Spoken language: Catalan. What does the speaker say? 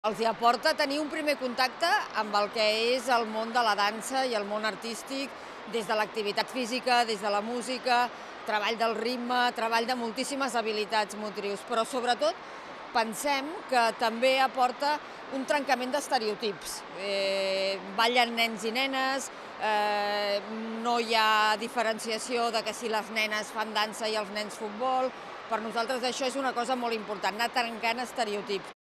Els hi aporta tenir un primer contacte amb el que és el món de la dansa i el món artístic, des de l'activitat física, des de la música, treball del ritme, treball de moltíssimes habilitats motrius, però sobretot pensem que també aporta un trencament d'estereotips. Ballen nens i nenes, no hi ha diferenciació de que si les nenes fan dansa i els nens futbol. Per nosaltres això és una cosa molt important, anar trencant estereotips.